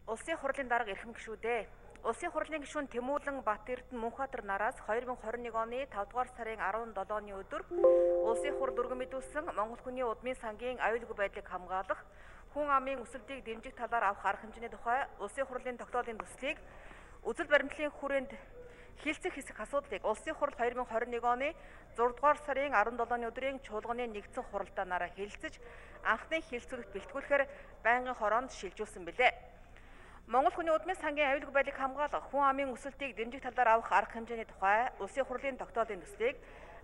Улсын хурлын дарга эрхэм гишүүдээ. Улсын хурлын гишүүн Тэмүүлэн Батэрдэн Мөнхбаатар нараас 2021 оны 5 дугаар сарын 17-ны өдөр улсын хурл өргөн мэдүүлсэн Монгол хүний удмын сангийн аюулгүй байдлыг хамгаалах, хүн амын өсөлтийг дэмжих талаар авах арга хэмжээний тухай улсын хурлын тогтоолын төслийг үзэл баримтлалын хүрээнд хилцэх хэсэг асуудлыг улсын хурл 2021 оны 6 дугаар сарын 17-ны өдрийн чуулганы нэгдсэн хуралдаанаараа хэлэлцэж анхны хэлэлцүүлэгт бэлтгүүлэхээр байнгын хороонд шилжүүлсэн билээ. Монгол хүний удмын сангийн аюулгүй байдлыг хамгаалах, хүн амын өсөлтийг дэмжих талаар авах арга хэмжээний тухай улсын хурлын тогтоолын төслийг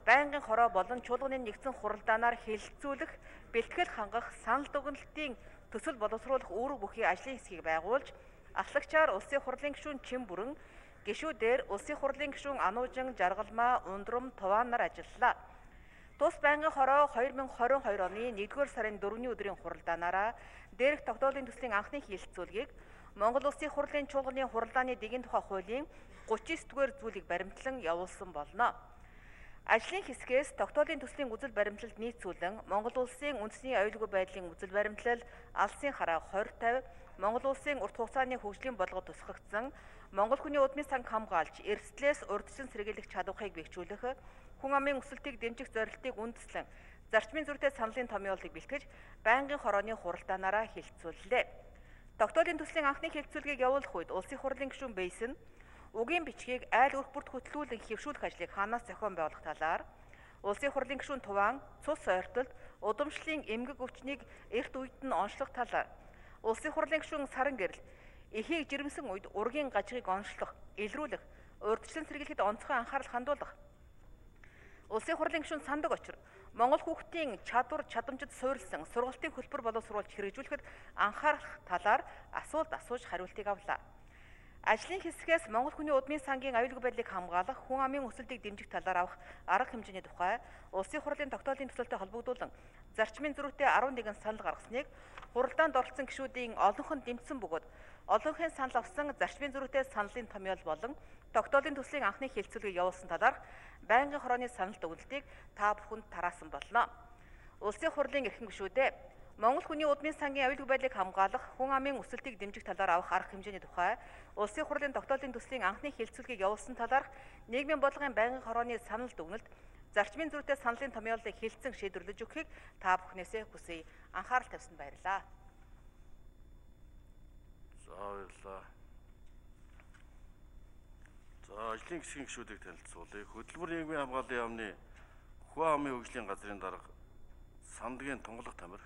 байнгын хороо болон чуулганы нэгдсэн хуралдаанаар хэлэлцүүлэх, бэлтгэл хангах, санал дүгнэлтийн төсөл боловсруулах үүрэг бүхий ажлын хэсгийг байгуулж, ахлагчаар улсын хурлын гишүүн Чимбүрэн, гишүүдээр улсын хурлын гишүүн Ануужин, Жаргалмаа, Ундрам, Тувaan нар ажиллалаа. Тус байнгын хороо 2022 оны 1-р сарын 4-ний өдрийн хуралдаанаараа дээрх тогтоолын төслийн анхны хэлэлцүүлгийг Монгол Улсын хурлын чуулганы хуралдааны дэгийн тухай хуулийн 39-р зүйлийг баримтлан явуулсан болно. Ажлын хэсгээс тогтоолын төслийн үзэл баримтлалд нийцүүлэн Монгол Улсын үндэсний аюулгүй байдлын үзэл баримтлал, алсын хараа 2050, Монгол Улсын урт хугацааны хөгжлийн бодлогод тусгагдсан Монгол хүний удмын санг хамгаалж, эрсдлээс урьдчилан сэргийлэх чадварыг бэхжүүлэх, хүн амын өсөлтийг дэмжих зорилтыг үндэслэн зарчмын зүйтэй саналын томьёолыг бэлтгэж, байнгын хорооны хуралдаанаараа хэлэлцүүллээ. Тогтоолын төслийн анхны хэлэлцүүлгийг явуулах үед улсын хурлын гишүүн Бэйсэн үгийн бичгийг айл өрх бүрт хөтлүүлэн хэвшүүлэх ажлыг хаанаас зохион байгуулах талаар, улсын хурлын гишүүн Тувaan цус ойртолд удамшлын эмгэг өвчнийг эрт үед нь онцлох талаар, улсын хурлын гишүүн Саран Гэрэл эхийг жирэмсэн үед ургийн гажигыг онцлох, илрүүлэх, урьдчилан сэргийлэхэд онцгой анхаарал хандуулах, улсын хурлын гишүүн Сандаг Очир Монгол хүүхдийн чадвар чадамжид суурилсан сургалтын хөлбөр боловсруулж хэрэгжүүлэхэд анхаарах талаар асуулт асууж хариултыг авлаа. Ажлын хэсгээс Монгол хүний удмын сангийн аюулгүй байдлыг хамгаалах, хүн амын өсөлтийг дэмжих талаар авах арга хэмжээний тухай улсын хурлын тогтоолын төсөлтэй холбогдуулан зарчмын зөрүүтэй 11 санал гаргасныг хуралдаанд оролцсон гишүүдийн олонх нь дэмжсэн бөгөөд олонхын санал авсан зарчмын зөрүүтэй саналын томьёол болон тогтоолын төслийн анхны хэлэлцүүлгийг явуулсан талаарх байнгын хорооны санал дүгнэлтийг та бүхэнд тараасан болно. Улсын хурлын эрхэм гишүүдээ, Монгол хүний удмын сангийн аюулгүй байдлыг хамгаалах, хүн амын өсөлтийг дэмжих талаар авах арга хэмжээний тухай улсын хурлын тогтоолын төслийн анхны хэлэлцүүлгийг явуулсан талаарх нийгмийн бодлогын байнгын хорооны санал дүгнэлт, зарчмын зүйтэй саналын томьёолыг хэлэлцэн шийдвэрлэж өгөхийг та бүхнээсээ хүсье. Анхаарал тавьсанд баярлалаа. За баярлалаа. За ажлын хэсгийн гишүүдийг танилцуулъя. Хөдөлмөр нийгмийн хамгааллын яамны хүн амын хөгжлийн газрын дарга Сандгийн Тунгалах Тамир,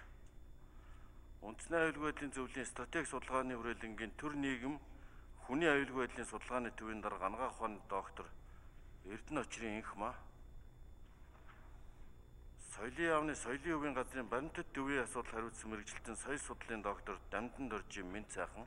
үндэсний аюулгүй байдлын зөвлөлийн стратеги судалгааны хүрээлэнгийн төр нийгэм хүний аюулгүй байдлын судалгааны төвийн дарга Анагаах ухааны доктор Эрдэнэ Очрын инх маа, соёлын яамны соёлын өвийн газрын баримтат төвийн асуудал хариуцсан мэрэгчлэлтэн соёл судлалын доктор Дамдан Доржийн Минт сайхан,